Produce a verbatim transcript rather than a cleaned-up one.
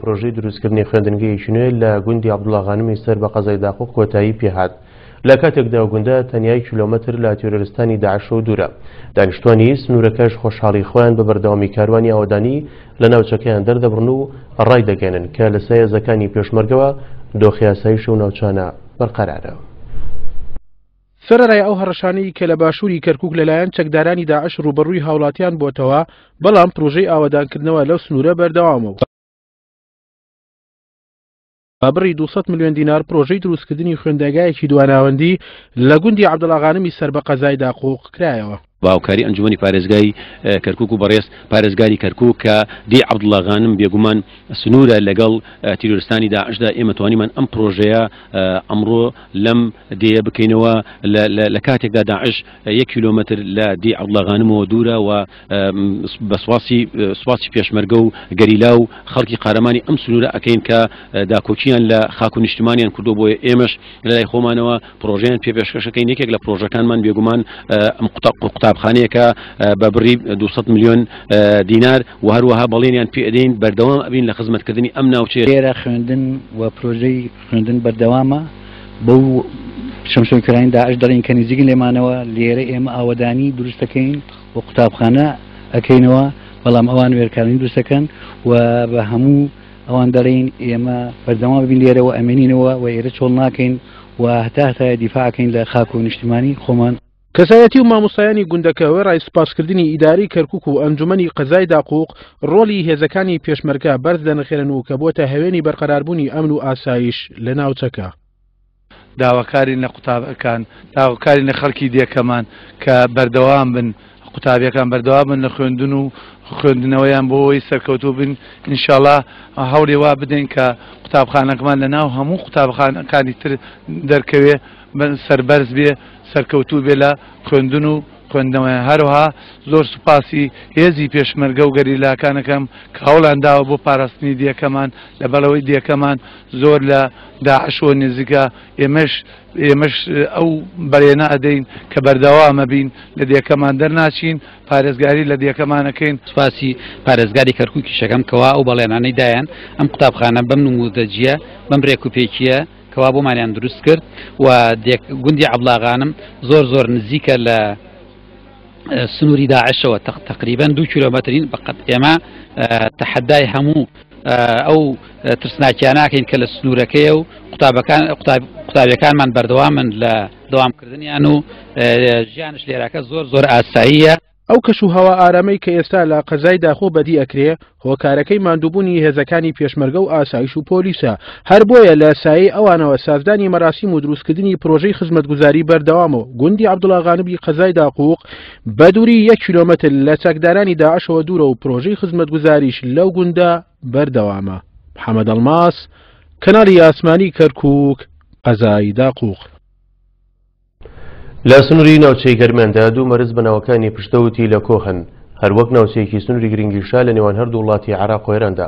پرۆژەی دروستکردنی خوێندنگەیەکی نوێ لە گوندی عەبدوڵا غانمی سەر بە قەزای داقوق کۆتایی پێهات. لە کاتێکدا گوندە تەنیا کیلۆمەتر لە تیرۆرستانی داعشەوە دوورە. دانیشتوانی سنوورەکەش خۆشحاڵی خۆیان بە بەردەوامی کاروانی ئاوەدانی لە ناوچەکەیان دەردەبڕن و ڕایدەگەیەنن کە لە سایە هێزەکانی پێشمەرگەوە دۆخی ئاسایش و ناوچانە بەرقەرارە. سەرەڕای ئەو هەڕەشانەی کە لە باشووری کەرکوک لەلایەن چەکدارانی داعش ڕووبەڕووی هاوڵاتیان بۆتەوە، بەڵام پرۆژەی ئاوەدانکردنەوە لەو سنوورە بەردەوامە و بە بڕی دوو سەد ملیۆن دینار پرۆژەی دروستکردنی خوێندنگایەکی دواناوەندی لە گوندی عەبدوڵا غانمی سەر بە قەزای داقوق کرایەوە. بە هاوکاری ئەنجومەنی پارێزگای کەرکوک و بەڕێز پارێزگاری کەرکوک کە دی عەبدوڵا غانم بێگومان سنوورە لەگەڵ تیرۆرستانی داعشدا، ئێمە توانیمان ئەم پرۆژەیە ئەمڕۆ لەم دێیە بکەینەوە لە کاتێکدا داعش یەک کیلۆمەتر لە دی عەبدوڵا غانمەوە دوورە و بە سواسی سواسی پێشمەرگە و گەریلا و خەڵکی قارەمانی ئەم سنوورە ئەکەین کە داکۆکیان لە خاک و نیشتمانیان کردو. بۆیە ئێمەش لەلای خۆمانەوە پرۆژەیان پێپێشکەشەکەین. یەکێک لە پرۆژەکانمان بێگومان ئەم قوتابخانەیەکە بە بڕی دوو سەد ملیۆن دینار و هەروەها بەڵێنیان پێدەین بەردەوام ئەبین لە خزمەتکردنی ئەم ناوچەیە. لێرە خوێندن و پرۆژەی خوێندن بەردەوامە. بەو شەمشەمکرانی داعش دەڵێن کە نزیکن لێمانەوە، لێرە ئێمە ئاوەدانی دروست دەکەین و قوتابخانە ئەکەینەوە، بەڵام ئەوان وێرکاری دروست دەکەن و بە هەموو ئەوان دەڵێن ئێمە بەردەوام بین لێرەوە ئەمێنینەوە و ئێرە چۆڵ ناکەین و هەتا هەتایە دیفاعەکەین لە خاک و نیشتیمانی خۆمان. کەسایەتی و مامۆستایانی گوندەکە وێڕای سوپاسکردنی ئیداری کەرکوک و ئەنجومەنی قەزای داقوق ڕۆڵی هێزەکانی پێشمەرگە بەرز دەنرخێنن و کە بۆتە هەوێنی بەرقەراربوونی ئەمن و ئاسایش لە ناوچەکە. داواکارین لە قوتابەکان، داواکارین لە خەڵکی دێکەمان کە بەردەوام بن، قوتابیەکان بەردەوام بن لە خوێندن و خوێندنەوەیان بۆ ئەوەی سەرکەوتوو بن. ئینشاڵڵا هەوڵی وا بدەین کە قوتابخانەکەمان لە ناو هەموو قوتابخانەکانی تر دەرکەوێ، سەربەرز بێ، سەرکەوتوو بێ لە خوێندن و خوێندنەوەیان. هەروەها زۆر سوپاسی هێزی پێشمەرگە و گەریلاکانەکەم کە هەوڵیان داوە بۆ پاراستنی دێکەمان، لەبەرەوەی دێکەمان زۆر لە داعشەوە نزیکە. ئێمەش ئێمەش ئەو بەرێنە ئەدەین کە بەردەوامە بین لە دێکەمان دەرناچین، پارێزگاری لە دێکەمانەکەین. سوپاسی پارێزگاری کەرکووکیشەکەم کەوا ئەو بەڵێنانەی دایان ئەم قوتابخانە بەم نموودەجیە بەم ڕێکوپێکیە کەوا بۆمانیان دروست کرد و گوندی عەبدوڵا غانم زۆر زۆر نزیکە لە سنووری داعشەوە، تقریبا دوو کیلۆمەترین. بەقەت ئێمە تەحەدای هەموو ئەو ترسناکیاناکەین کە لە سنوورەکەیە و قوتابیەکانمان بەردەوامن لە دەوامکردنیان و ژیانش لێراکە زۆر زۆر ئاساییە. ئەو کەش و هەوا ئارامەی کە ئێستا لە قەزای داخۆ بەدی ئەکرێ هۆکارەکەی ماندووبوونی هێزەکانی پێشمەرگە و ئاسایش و پۆلیسە. هەر بۆیە لە سایەی ئەوانەوە سازدانی مەراسیم و دروستکردنی پرۆژەی خزمەتگوزاری بەردەوامە و گوندی عەبدوڵا غانمی قەزای داقوق بە دووری یەک کیلۆمەتر لە چەکدارانی داعشەوە دوورە و پرۆژەی خزمەتگوزاریش لەو گوندە بەردەوامە. محەممەد ئەڵماس، کەناڵی ئاسمانی کەرکوک، قەزای داقوق. لە سنووری ناوچەی گەرمیاندا دوو مەرز بە ناوەکانی پشتەوتی لە کۆهن، هەروەک ناوچەیەکی سنووری گرنگیشا لە نێوان هەردوو وڵاتی عێراق و ئێراندا.